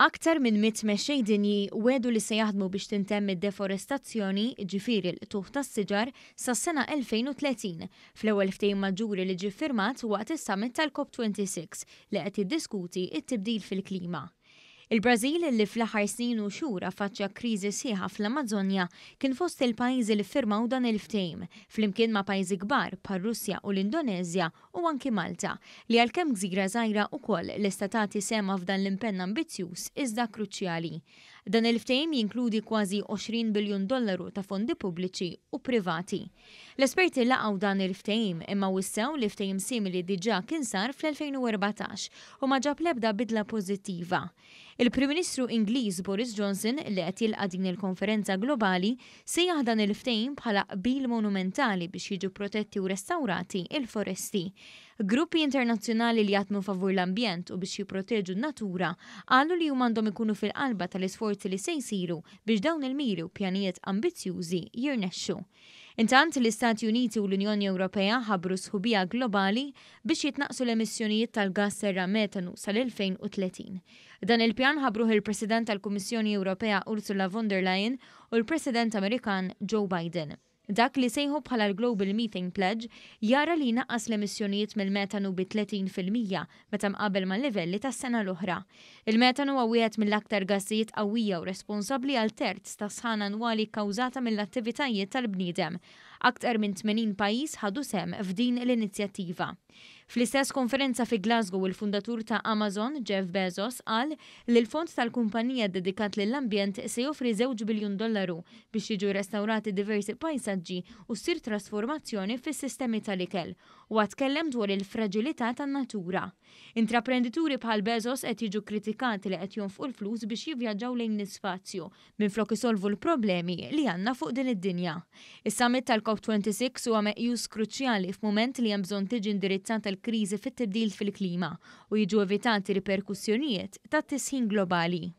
Aktar minn 100 mexxej dinji wegħdu li se jaħdmu biex tintemm id-deforestazzjoni, jiġifieri l-qtugħ tas-siġar, sas-sena 2030, fl-ewwel ftehim maġġuri li ġie ffirmat waqt is-summit tal-COP 26 li qed jiddiskuti t-tibdil fil-klima. Il-Brażil, li fl-aħħar snin u xhur affaċċja kriżi sħiħa fl-Amażonja, kien fost il-pajjiżi li ffirmaw dan il-ftehim, flimkien ma' pajjiżi kbar bħar-Russja u l-Indoneżja u anki Malta, li għalkemm gżira żgħira ukoll lesta tagħti sehemha f'dan l-impenn ambizzjuż iżda kruċjali. Dan il-ftehim jinkludi kważi 20 biljun dollaru ta' fondi pubbliċi u privati. L-esperti laqgħu dan il-ftehim imma wissew li ftehim simili diġà kien sar fl-2014 u ma ġab l-ebda bidla pożittiva. Il-Prim Ministru Ingliż Boris Johnson, li qed jilqa' din il-konferenza globali, sejjaħ dan il-ftehim bħala qbil monumentali biex jiġu protetti u restawrati l-foresti. Gruppi internazzjonali li jaħdmu favur l-ambjent u biex jipproteġu n-natura qalu li huma għandhom ikunu fil-qalba tal-isforzi li se jsiru biex dawn il-miri u pjanijiet ambizzjużi jirnexxu. Intant, l-Istati Uniti u l-Unjoni Ewropea ħabbru sħubija globali biex jitnaqqsu l-emissjonijiet tal-gass serra metanu sal-2030. Dan il-pjan ħabbruh il-President tal-Kummissjoni Ewropea Ursula von der Leyen u l-President Amerikan Joe Biden. Dak li sejħu bħala l-Global Methane Pledge jara li jnaqqas l-emissjonijiet mill-metanu bi 30% meta mqabbel mal-livelli tas-sena l-oħra. Il-metanu huwa wieħed mill-aktar gassijiet qawwija u responsabbli għal terz tas-sħana annwali kkawżata mill-attivitajiet tal-bniedem. Aktar minn 80 pajjiż ħadu sehem f'din l-inizjattiva. Fl-istess konferenza fi Glasgow il-fundatur ta' Amazon, Jeff Bezos, qal li l-fond tal-kumpanija ddedikat lill-ambjent se joffri żewġ biljun dollaru biex jiġu restawrati diversi pajsaġġi u ssir trasformazzjoni fis-sistemi tal-ikel Huwa tkellem dwar il-fraġilità tan-natura. Intraprendituri bħal Bezos qed jiġu kkritikati li qed jonfqu l-flus biex jivvjaġġaw lejn l-ispazju minflok isolvu l-problemi li għandna fuq din id-dinja. Is-summit tal-COP 26 huwa meqjus kruċjali f'mument li hemm bżonn tiġi indirizzata l-kriżi fit-tibdil fil-klima u jiġu evitati riperkussjonijiet tat-tisħin globali.